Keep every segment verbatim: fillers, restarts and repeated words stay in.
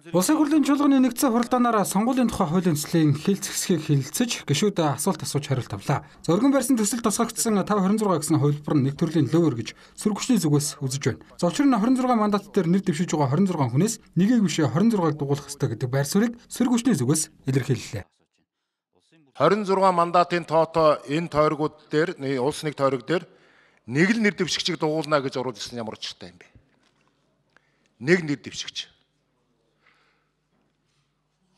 Улсын хурлын чуулганы нэгдсэн хуралдаанаар сонгуулийн тухай хуулийн төслийн хэлцэсгийг хэлэлцэж гишүүд асуулт асууж хариулт авлаа. За өргөн барьсан төсөл тусгагдсан five twenty-six гэсэн хувилбар нь нэг төрлийн лөөр гэж сөрөг хүчний зүгээс үзэж байна. За учир нь twenty-six мандат дээр нэр дэвшиж байгаа twenty-six хүнээс нэгийг биш twenty-six-ыг дугуулах ёстой гэдэг байр суурийг сөрөг хүчний зүгээс илэрхийллээ. twenty-six мандатын тоотоо энэ тойргууд дээр улс нэг тойрог дээр нэг л нэр дэвшигчийг дугуулна гэж оруулсан ямар учиртай юм бэ? Нэг нэр дэвшигч.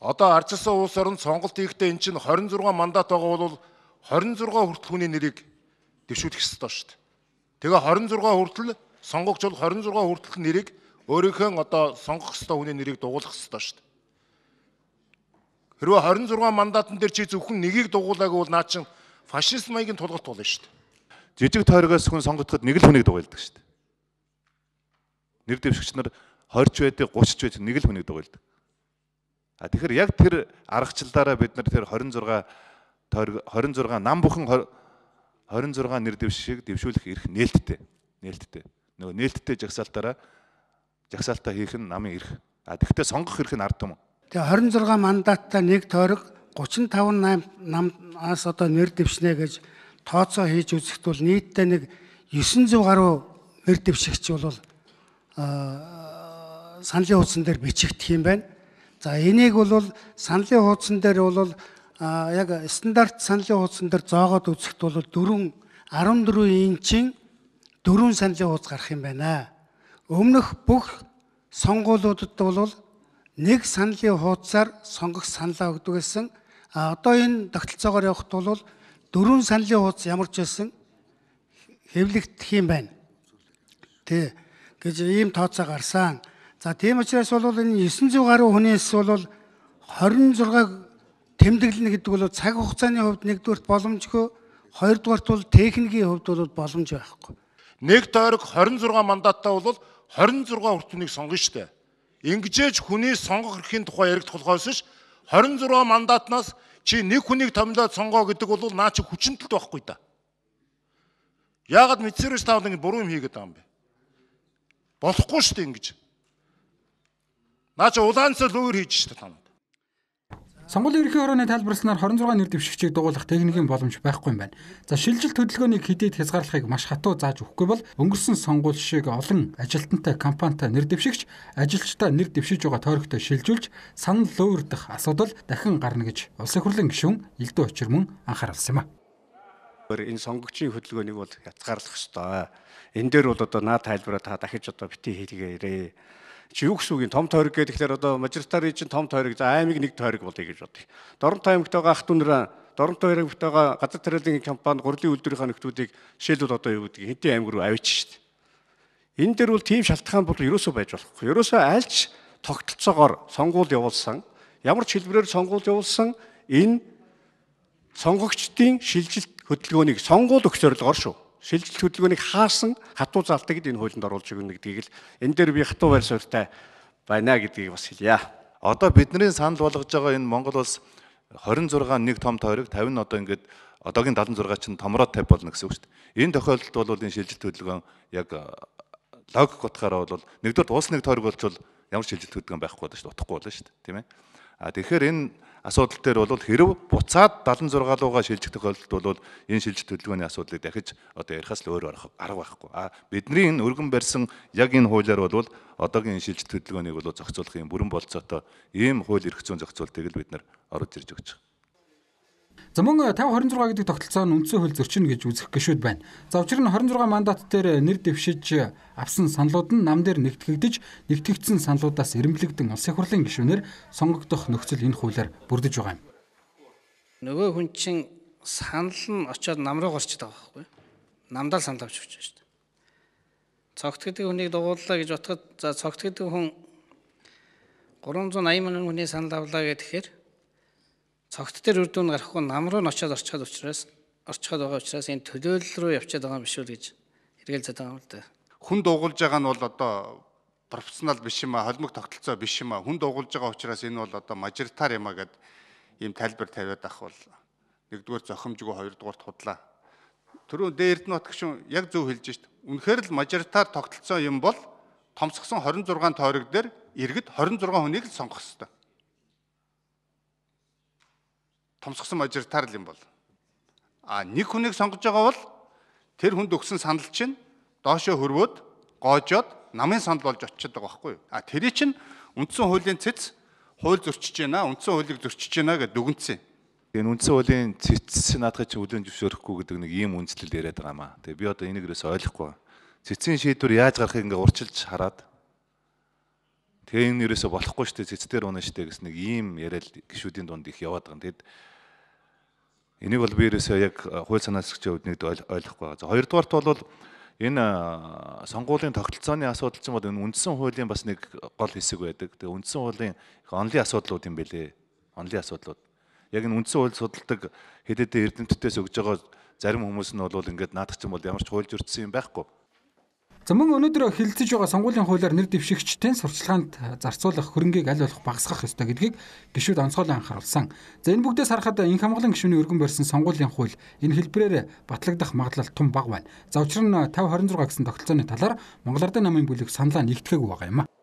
Одоо ардчилсан улс орнд сонголт хийхдээ эн чинь twenty-six мандат байгаа бол twenty-six хүртэл хүний нэрийг дэвшүүлэх ёстой шүү дээ. Тэгээ twenty-six хүртэл сонгогч бол twenty-six хүртэл нэрийг өөрийнхөө одоо сонгох ёстой хүний нэрийг дугуулах ёстой шүү дээ. Хэрвээ twenty-six мандатан дээр чи зөвхөн нэгийг дугуулаагүй бол наа чин фашист маягийн тулгарт болно шүү дээ. Жижиг тойрогоос хүн сонгогдоход нэг л хүнийг дугуйлдаг шүү дээ. Нэр дэвшигч нар twenty байдаг, thirty ч байдаг, нэг л хүнийг дугуйлдаг. А тэгэхээр яг тэр аргачлалаараа бид нар тэр twenty-six twenty-six нам бүхэн twenty-six нэр дэвшиг дэвшүүлэх эрх нээлттэй. Нээлттэй. Нөгөө нээлттэй жагсаалтаараа жагсаалтаа хийх нь намын эрх. А тэгэхдээ сонгох эрх нь ард түмэн. Тэгээ twenty-six мандаттай нэг тойрог thirty-five намаас одоо нэр дэвшнэ гэж тооцоо хийж үзэхэд бол нийтдээ нэг nine hundred гаруй нэр дэвшигч бол саналын хуудсан дээр бичигдэх юм байна. За энийг бол саналын хуудсан дээр бол яг стандарт саналын хуудсан дээр зоогоод үзэхэд бол four fourteen инчийн four саналын хуудас гарах юм байна. Өмнөх бүх сонгуулиудад бол нэг саналын хуудасаар сонгох саналаа өгдөг гэсэн. А одоо энэ тогтолцоогоор явахд бол four саналын хуудас ямар ч байсан хэвлэгдэх юм байна. Тэ гэж ийм тооцоо гарсан. За тийм учраас бол энэ nine hundred гаруй хүнээс бол twenty-six тэмдэглэнэ гэдэг бол цаг хугацааны хувьд нэгдүгээрт боломжгүй, хоёрдугаарт бол техникийн хувьд бол боломж байхгүй. Нэг тойрог twenty-six мандаттай бол twenty-six хүртнийг сонгоно шүү дээ. Ингэжээж хүний сонгох эрхийн тухай яригдах болохоос ш twenty-six мандатнаас чи нэг хүнийг томилоод сонгоо гэдэг бол наа чи хүчнэлт байхгүй да. Яагаад мэдсэрэж таавал ингэ буруу юм хийгээд байгаа юм бэ? Болохгүй шүү дээ ингэж. Наа чи улаанцал өөр хийж шүү дээ танад. Сонгуулийн ерөнхий хорооны тайлбарласнаар twenty-six нэр дэвшигчийг дугуулах техникийн боломж байхгүй юм байна. За шилжилт хөдөлгөөнийг хэдийд хязгаарлахыг маш хатуу зааж өгөхгүй бол өнгөрсөн сонгуул шиг олон ажилтнтай компанитай нэр дэвшигч ажилчдаа нэр дэвшиж байгаа тойрогтой шилжүүлж санал луурдах асуудал дахин гарна гэж улсын хурлын гишүүн Элдв Очирмөн анхааруулсан юм а. Энэ сонгогчийн хөдөлгөөнийг бол хязгаарлах ёстой. Энэ дээр бол одоо наа тайлбараа та дахиж одоо бити хийлгээрэй. Чи юу гэсэн үг юм том тойрог гэдэг тэгэхээр одоо мажоритарын чинь том тойрог за аймаг нэг тойрог болъё гэж бодъё. Доронтой аймагтайгаа ах дүүнэр Доронтой аймагтайгаа газар тариалан компани гурлийн үйлдвэрийн нөхдүүдийг жишээлбэл одоо юу гэдэг хэдийн аймаг руу авчиж шít. Энэ дээр бол тийм шалтгаан бол ерөөсөө байж болохгүй. Ерөөсөө альч тогтолцоогоор сонгуул явуулсан ямар ч хэлбэрээр сонгуул явуулсан энэ сонгогчдын шилжилт хөдөлгөөнийг сонгуул өгөх зорилгоор шүү. Шилжилт хөдөлгөөнийг хаасан хатуу заалтыг энэ хуулинд оруулж өгнө гэдгийг л энэ дээр би хатуу байр суурьтай байна гэдгийг бас хэлье. Одоо бидний санал болгож байгаа энэ Монгол улс twenty-six нэг том тойрог fifty одоо ингээд одоогийн seventy-six чинь томроо fifty болно гэсэн үг шүү дээ. Энэ тохиолдолд бол энэ шилжилт хөдөлгөөн яг логик утгаараа бол нэгдүгээр улс нэг тойрог болчвол ямар шилжилт хөдөлгөөн байхгүй болно шүү дээ. Утахгүй болно шүү дээ. Тийм ээ. А тэгэхээр энэ асуудал дээр бол хэрв буцаад seventy-six руугаа шилжих тохиолдолд бол энэ шилжилт хөдөлгөөний асуудлыг дахиж одоо ярихаас л өөр арга байхгүй. А бидний энэ өргөн барьсан яг энэ хуулиар бол одоогийн шилжилт хөдөлгөөнийг бол зохицуулах юм бүрэн болцоотой ийм хууль эрх зүйн зохицуултыг л бид нар оруулж ирж өгч байгаа. За мөн five twenty-six гэдэг тогтолцоо нь үндсэн хууль зөрчинө гэж үзэх гишүүд байна. За учир нь twenty-six мандат дээр нэр дэвшиж авсан саналууд нь нам дээр нэгтгэгдэж, нэгтгэгдсэн саналуудаас эренблэгдэн улсын хурлын гишүүнээр сонгогдох нөхцөл энэ хуулиар бүрдэж байгаа юм. Нөгөө хүн чинь санал нь очиод нам руу горчод байгаа байхгүй. Намдаа л санал авч өгч байгаа шүү дээ. Цогт гэдэг хүнийг дугууллаа гэж бодоход за цогт гэдэг хүн three hundred eighty мянган хүний санал авлаа гэхээр цогт дээр үр дүн гарахгүй нам руу н очиод орчиход учраас орчиход байгаа учраас энэ төлөөлөл рүү явчихад байгаа юм биш үү гэж хэрэгэлзээд байгаа юм л да. Хүн дуугуулж байгаа нь бол одоо профессионал биш юм а, холимог тогтолцоо биш юм а. Хүн дуугуулж байгаа учраас энэ бол одоо мажоритар юм а гэд ийм тайлбар тавиад ах бол нэгдүгээр зохимжгүй, хоёрдугаарт худлаа. Түрүү дээрд нь отгшин яг зөв хэлж шít. Үнэхээр л мажоритар тогтолцоо юм бол томсгосон хорин зургаан тойрог дээр иргэд хорин зургаан хүнийг л сонгох ёстой. Томсгосон мажоритар юм бол. А нэг хүнийг сонгож байгаа бол тэр хүнд өгсөн санал чинь доошоо хөрвөөд гоожоод намын санал болж очиод байгаа байхгүй юу? А тэрий чинь үндсэн хуулийн цэц хууль зөрчиж байна, үндсэн хуулийг зөрчиж байна гэдээ дүгнсэн. Энэ үндсэн хуулийн цэц наадах чи хүлэн зөвшөөрөхгүй гэдэг нэг ийм үндслэл яриад байгаа маа. Тэгээ би одоо энийг ерөөсөй ойлгохгүй. Цэцийн шийдвэр яаж гарахыг ингээ урчилж хараад тэгээ энэ ерөөсөй болохгүй шүү дээ, цэцээр унаа шүү дээ гэсэн нэг ийм яриад гişүүдийн дунд их яваад байгаа. Тэгэд энийг бол би ерөөсөй яг хууль санаа зохицогчийн үүднийд ойлгохгүй байгаа. За хоёрдугаарт бол энэ сонгуулийн тогтолцооны асуудал чинь бол энэ үндсэн хуулийн бас нэг гол хэсэг байдаг. Тэгээ үндсэн хуулийн онлын асуудлууд юм бэлээ. Онлын асуудлууд. Яг энэ үндсэн хууль судалдаг хэд хэдэн эрдэмтдээс өгж байгаа зарим хүмүүс нь бол ингээд наадах чинь бол ямар ч хууль зөрчсөн юм байхгүй. За мөн өнөөдөр хэлэлцэж байгаа сонгуулийн хуулиар нэр дэвшигчдийн сурчлаганд зарцуулах хөрөнгийг аль болох багасгах ёстой гэдгийг гишүүд онцгойлон анхааруулсан. За энэ бүгдээс харахад энх хамгаалан гишүүний өргөн барьсан сонгуулийн хууль энэ хэлбэрээр батлагдах магадлал тун бага байна. За учир нь тавь хорин зураг гэсэн тогтолцооны талаар Монгол Ардын намын бүлэг саналаа нэгтгэгээгүй байгаа юм а.